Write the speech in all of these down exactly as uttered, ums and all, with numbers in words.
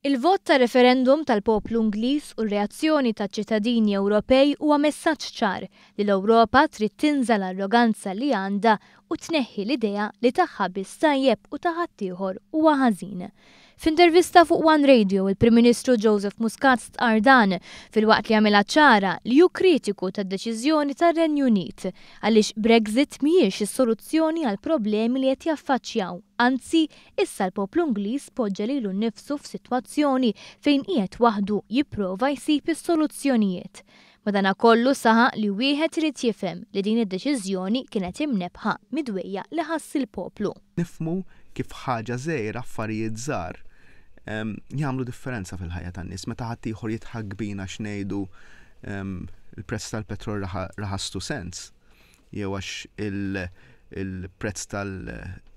Il-vot ta' referendum tal-poplu Ingliż u r-reazzjoni taċ-ċittadini Ewropej huwa messaġġ ċar li l-Ewropa trid tinża l-arroganza li għandha u tneħħi l-idea li tagħha biss tajjeb u ta' ħaddieħor huwa ħażin. F'intervista fuq One Radio, il-Prim Ministru Joseph Muscat stqarr dan filwaqt li għamilha ċara li hu kritiku tad-deċiżjoni tar-Renju Unit għaliex Brexit mhijiex is-soluzzjoni għal problemi li qed jaffaċċjaw. Anzi, issa l-poplu Ingliż poġġa lilu nnifsu f'sitwazzjoni fejn qiegħed waħdu jipprova jsib is-soluzzjonijiet. Madanakollu saħaq li wieħed irid jifhem li din id-deċiżjoni kienet imnebbħa mid-dwejjaq li ħass il-poplu. Nifhmu kif ħaġa żgħira, affarijiet żgħar jagħmlu differenza fil-ħajja tan-nies. Meta ħadd ieħor jidħak bina x'ngħidu il-prezz tal-petrol raħas two cents jew għax il-prezz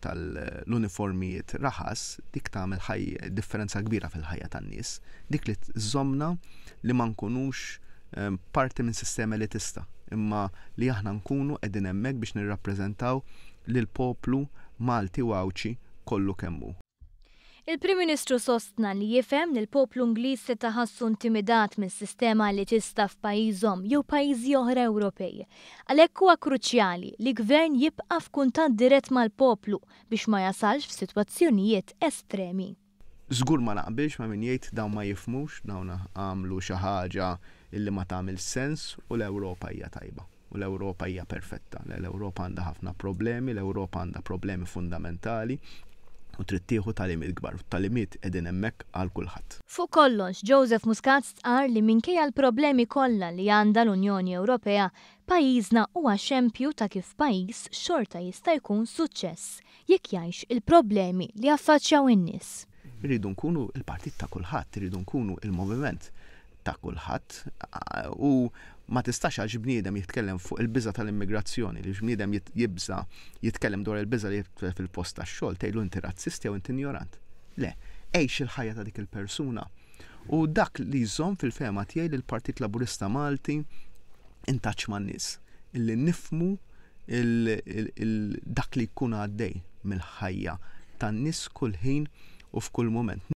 tal-uniformijiet raħas, dik tagħmel differenza kbira fil-ħajja tan-nies. Dik li tżommna li ma nkunux parti minn sistema elitista, imma li aħna nkunu qegħdin hemmhekk biex nirrappreżentaw lil poplu Malti u Għawdxi kollu kemm hu. Il-Prim Ministru sostna li jifhem li l-poplu Ingliż seta' ħassu intimidat mis-sistema elitista f'pajjiżhom jew pajjiżi oħra Ewropej. Għalhekk huwa kruċjali li gvern jibqa' f'kuntatt dirett mal-poplu biex ma jasalx f'sitwazzjonijiet estremi. Żgur ma naqbilx ma' min jgħid dawn ma jifhmux, dawn għamlu xi ħaġa illi ma tagħmel sens u l-Ewropa hija tajba u l-Ewropa hija perfetta. L-Ewropa għandha ħafna problemi, l-Ewropa għandha problemi fundamentali u trid tieħu tagħlimiet kbar. Tagħlimiet qegħdin hemmhekk għal kulħadd. Fuq kollox, Joseph Muscat stqarr li minkejja l-problemi kollha li għandha l-Unjoni Ewropea, pajjiżna huwa xempju ta' kif pajjiż xorta jista' jkun suċċess jekk jgħix il-problemi li affaċċjaw in-nies. Irridu nkunu il-partit ta' kulħadd, irridu nkunu il-moviment ta' kulħadd u ma tistax għax bniedem jitkellem fuq il-biża tal-immigrazzjoni, li bniedem jibża jitkellem dwar il-biża li fil-post tax-xogħol tgħidlu inti razzist jew inti ignorant. Le, għix il-ħajja ta' dik il-persuna. U dak li jżomm fil-fehma tiegħi li l-Partit Laburista Malti in touch man-nies, illi nifhmu dak li jkun għaddej mill-ħajja tan-nies kull ħin u f'kull moment.